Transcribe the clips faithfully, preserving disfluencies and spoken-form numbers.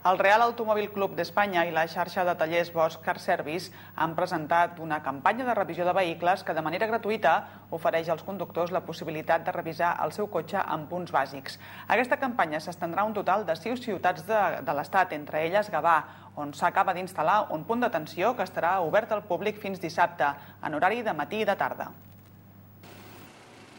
El Real Automòbil Club d'Espanya i la xarxa de tallers Bosch Car Service han presentat una campanya de revisió de vehicles que de manera gratuïta ofereix als conductors la possibilitat de revisar el seu cotxe en punts bàsics. Aquesta campanya s'estendrà a un total de sis ciutats de, de l'Estat, entre elles Gavà, on s'acaba d'instal·lar un punt d'atenció que estarà obert al públic fins dissabte, en horari de matí i de tarda.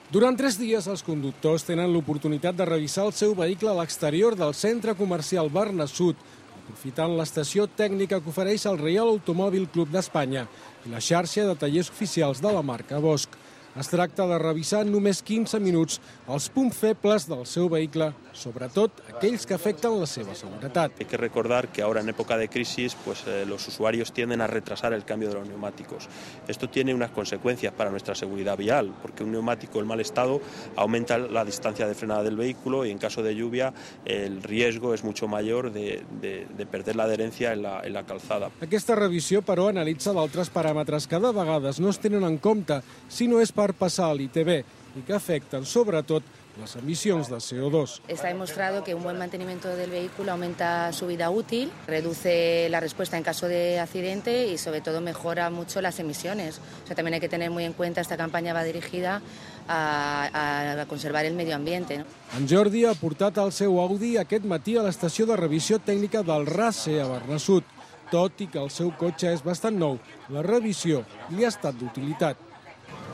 Durant tres dies, els conductors tenen l'oportunitat de revisar el seu vehicle a l'exterior del centre comercial Bernasud, aprofitant l'estació tècnica que ofereix el Real Automòbil Club d'Espanya i la xarxa de tallers oficials de la marca Bosch. Es tracta de revisar en només quinze minuts els punts febles del seu vehicle, sobretot aquells que afecten la seva seguretat. Hay que recordar que ahora en época de crisis pues, eh, los usuarios tienden a retrasar el cambio de los neumáticos. Esto tiene unas consecuencias para nuestra seguridad vial, porque un neumático en mal estado aumenta la distancia de frenada del vehículo y en caso de lluvia el riesgo es mucho mayor de, de, de perder la adherencia en la, en la calzada. Aquesta revisió, però, analitza d'altres paràmetres que de vegades no es tenen en compte si no és per passar a l'I T B i que afecten sobretot las emisiones de C O dos. Está demostrado que un buen mantenimiento del vehículo aumenta su vida útil, reduce la respuesta en caso de accidente y sobre todo mejora mucho las emisiones. O sea, también hay que tener muy en cuenta, esta campaña va dirigida a, a conservar el medio ambiente, ¿no? En Jordi ha portat el seu Audi aquest matí a l'estació de revisió tècnica del RACE a Bernasud. Tot i que el seu cotxe és bastant nou, la revisió li ha estat d'utilitat.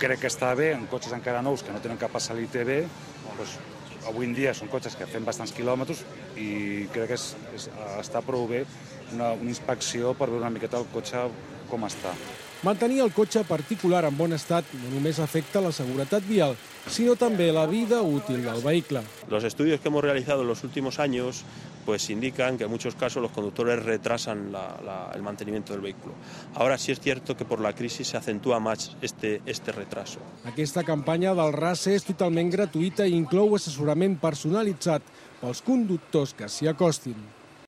Crec que està bé en cotxes encara nous que no tenen que passar l'I T B. Doncs, avui en dia són cotxes que fem bastants quilòmetres i crec que és, és, està prou bé una, una inspecció per veure una miqueta el cotxe com està. Mantenir el cotxe particular en bon estat no només afecta la seguretat vial, sino també la vida útil del vehicle. Los estudios que hemos realizado en los últimos años pues indican que en muchos casos los conductores retrasan la, la, el mantenimiento del vehículo. Ahora sí es cierto que por la crisis se acentúa más este, este retraso. Aquesta campanya del RACE és totalment gratuïta i inclou assessorament personalitzat pels conductors que s'hi acostin.